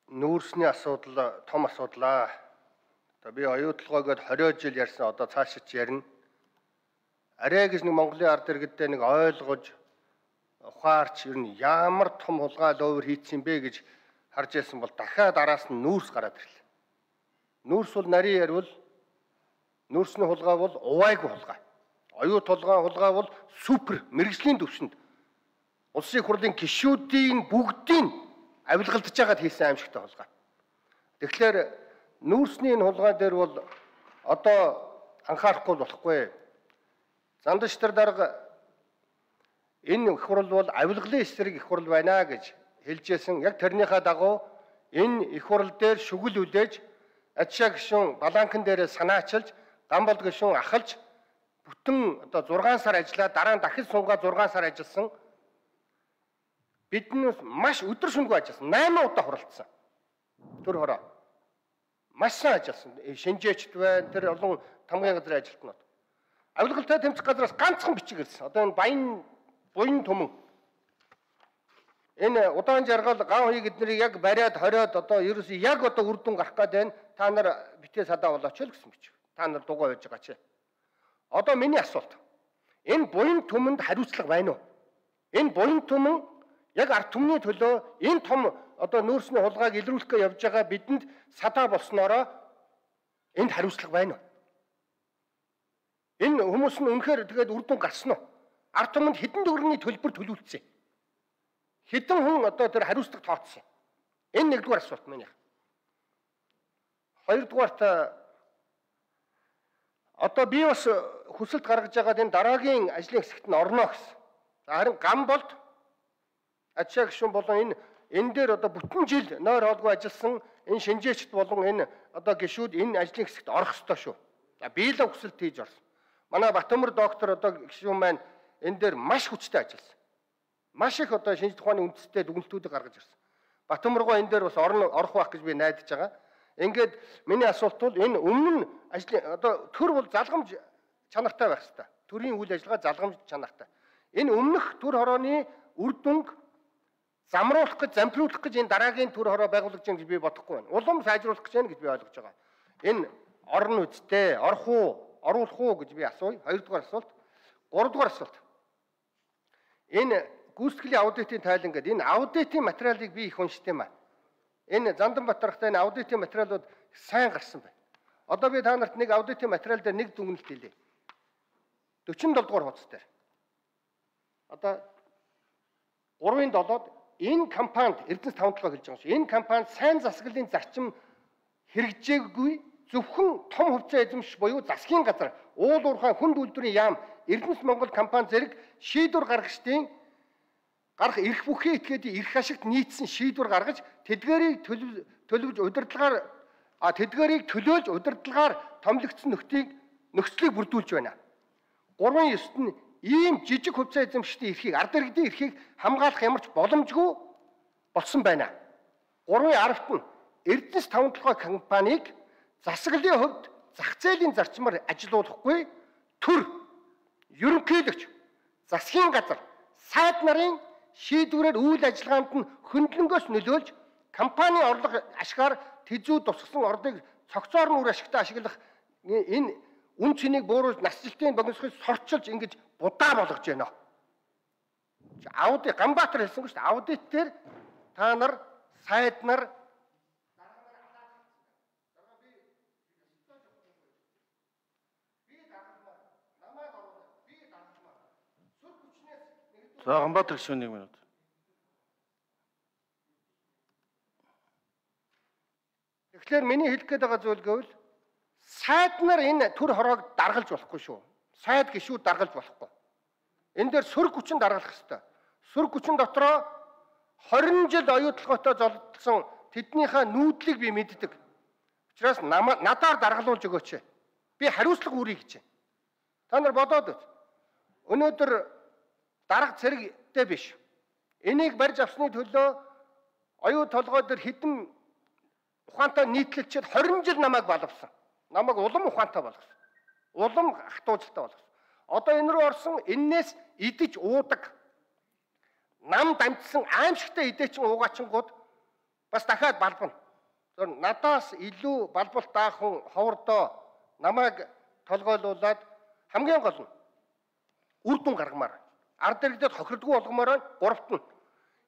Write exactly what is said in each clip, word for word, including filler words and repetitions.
нүүрсний асуудал том асуудлаа. Одоо би оюутлогоогод хорио жил ярьсан одоо цаашид ярина. Арай гэж нэг Монголын ард иргэдээ нэг ойлгож ухаарч ер нь ямар том хулгай ловер хийцэн бэ гэж харж байсан бол дахиад араас нь нүүрс гараад ирлээ. Нүүрс бол нарийн ярил нүүрсний хулгай бол увайгүй хулгай. Оюут хулгай хулгай бол супер мэрэгжлийн төвшөнд улсын хурлын гишүүдийн бүгдийн авилгалдж байгаад хийсэн аимшигтай хулгай. Тэгэхээр нүүрсний энэ хулгай дээр бол одоо анхаарахгүй болохгүй. Зандчтар дарга энэ их хурл бол авилгалын эсрэг их хурл байна гэж хэлжсэн. Яг тэрнийхээ дагуу энэ их хурл дээр шүгэл үлээж Ачаа гишүүн Баланкан дээрээ санаачилж, Гамболд гишүүн ахалж бүтэн одоо зургаан сар ажиллаад дараа нь дахин сунгаа зургаан сар ажилласан. Биднээс маш өдөр шөнөгүй ажилласан. найман удаа хуралдсан. Төр хороо. Маш сайн ажилласан. Шинжээчд байна. Тэр олон тамгын газрын ажилтнууд. Авилгалтай тэмцэх газраас ганцхан бичиг ирсэн. Одоо энэ баян буян түмэн. Энэ удаан жаргал гав хийгээд нэрийг яг бариад хориод одоо ерөөсөө яг одоо үр дүн гарах гээд байна. Та нар битээ садаа болооч л гэсэн бичиг. Та нар дугаа байж байгаа чи. Одоо миний асуулт. Энэ буян түмэнд хариуцлага байна уу? Энэ буян түмэн яг ард түмний төлөө энэ том одоо нүүрсний хулгайг илрүүлэхгээ явж байгаа бидэнд садаа болсноороо энд хариуцлага байна уу? Энэ хүмүүс нь үнэхээр тэгээд үр дүн гарсан уу? Ард түмэнд хэдэн төгрөгийн төлбөр төлүүлсэн? Хэдэн хүн одоо тэр хариуцлага тооцсон? Энэ нэгдүгээр асуулт минь. Хоёрдугаарт одоо би бас хүсэлт гаргаж байгаа энэ дараагийн ажлын хэсэгт нь орно гэсэн. За харин Гамболд Ачаа гишүүн болон энэ энэ дээр одоо бүтэн жил нойр хоолгүй ажилласан энэ шинжээчд болон энэ одоо гишүүд энэ ажлын хэсэгт орох ёстой шүү. За би л хүсэлт хийж орсон. Манай Батөмөр доктор одоо гишүүн маань энэ дээр маш хүчтэй ажилласан. Маш их одоо шинжлэх ухааны үндэстэй дүгнэлтүүдийг гаргаж ирсэн. Батөмөргөө энэ дээр бас орно орох байх гэж би найдаж байгаа. Ингээд миний асуулт бол энэ өмнө нь ажлын одоо төр бол залгамж чанартай байх хэрэгтэй. Төрийн үйл ажиллагаа залгамж чанартай. Энэ өмнөх төр хорооны үр дүнг замруулах гэж, зампруулах гэж энэ дараагийн төр хороо байгуулагдаж байгаа гэж би бодохгүй байна. Улам сайжруулах гэж байна гэж би ойлгож байгаа. Энэ орно үсттэй, орох уу, оруулах уу гэж би асууя. Хоёрдугаар асуулт. Гуравдугаар асуулт. Энэ гүйцэтгэлийн аудитын тайлан гэдэг энэ аудитын материалыг би их уншдаг юм аа. Энэ Занданбатархтай энэ аудитын материалууд сайн гарсан байна. Одоо би та нарт нэг аудитын материал дээр нэг дүгнэлт хэлье. дөрвөн дугаар хуудас дээр. Одоо гурван долоод энэ компанид Эрдэнэс таван толгой хэлж байгаа юм шиг. Энэ компанид сайн засаглалын зарчим хэрэгжээгүй зөвхөн том хувьцаа эзэмш буюу засгийн газар уул уурхай хүнд үйлдвэрийн яам Эрдэнэс Монгол компани зэрэг шийдвэр гаргагчдын гарах эрх бүхий этгээдийн эрх ашигт нийцсэн шийдвэр гаргаж тэдгээрийг төлөвлөж удирдлагаар а тэдгээрийг төлөөлж удирдлагаар томилогдсон нөхцөлийг нөхцөлийг бүрдүүлж байна. гурван ёсод нь ийм жижиг хувьцаа эзэмшигчдийн эрхийг ард иргэдийн эрхийг хамгаалах ямар ч боломжгүй болсон байна. гурван аравт нь Эрдэнэс таван толгой компанийг засаглалын хувьд зах зээлийн зарчмаар ажилуулахгүй төр ерөнхийлөгч засгийн газар сайд нарын шийдвэрээр үйл ажиллагаанд нь хөндлөнгөөс нөлөөлж компани орлого ашгаар тэзүү тусгасан ордыг цогцоор нь үр ашигтай ашиглах энэ үн цэнийг бууруулж насжилтын богиносхийг сорчилж ингэж будаа болгож байна. Аудит Ганбаатар хэлсэн шүү дээ. Аудит дээр та нар сайд нар За Ганбаатар гишүүн нэг минут. Тэгэхээр миний хэлэх гээд байгаа зүйл гэвэл сайд нар энэ төр хороог даргалж болохгүй шүү. Сайд гишүүд даргалж болохгүй. Энэ дээр сөрөг хүчин даргалах ёстой. Сөрөг хүчин дотроо хорин жил оюутлоготой золдсон тэднийхээ нүүдлийг би мэддэг. Учираас надаар даргалуулж өгөөч. Би хариуцлага үүрье гэж. Та нар бодоод үз. Өнөөдөр дарга цэрэгтэй биш. Энийг барьж авсны төлөө оюу толгой дээр хідэн ухаантай нийтлэлчээр хорин жил намайг балавсан. Намайг улам ухаантай болгосон. Улам хатуужтай болгосон. Одоо энэ рүү орсон эннээс идэж уудаг. Нам дамжсан аимшигтай идээчин уугаачингууд бас дахиад балбана. Зөв надаас илүү балбалт даахын ховордоо намайг толгойлуулаад хамгийн гол нь үр дүн гаргамаар. Ард иргэдэд хохирдгүй болгомоор гуравт нь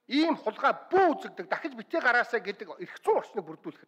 ийм хулгай бүү үзэгдэг дахиж битгий гараасаа гэдэг эрх зүйн орчныг бүрдүүлэх.